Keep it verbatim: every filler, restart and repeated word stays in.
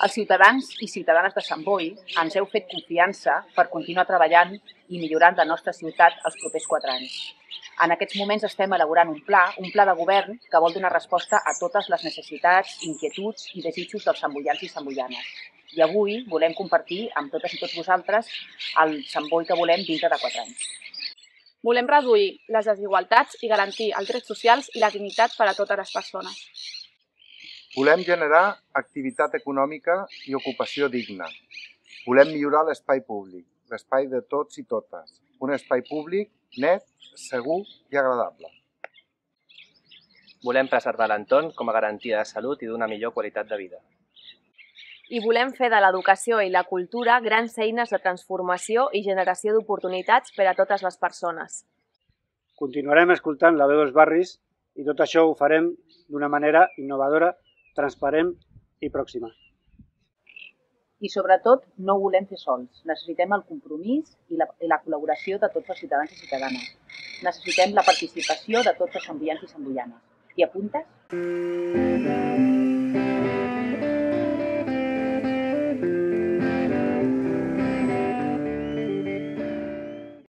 Els ciutadans i ciutadanes de Sant Boi ens heu fet confiança per continuar treballant i millorant la nostra ciutat els propers quatre anys. En aquests moments estem elaborant un pla, un pla de govern que vol donar resposta a totes les necessitats, inquietuds i desitjos dels samboians i samboianes. I avui volem compartir amb totes i tots vosaltres el Sant Boi que volem dintre de quatre anys. Volem reduir les desigualtats i garantir els drets socials i la dignitat per a totes les persones. Volem generar activitat econòmica i ocupació digna. Volem millorar l'espai públic, l'espai de tots i totes. Un espai públic net, segur i agradable. Volem preservar l'entorn com a garantia de salut i d'una millor qualitat de vida. I volem fer de l'educació i la cultura grans eines de transformació i generació d'oportunitats per a totes les persones. Continuarem escoltant la veu dels barris i tot això ho farem d'una manera innovadora, transparent i pròxima. I sobretot no ho volem fer sols. Necessitem el compromís i la, i la col·laboració de tots els ciutadans i ciutadanes. Necessitem la participació de tots els samboians i samboianes. T'hi apuntes?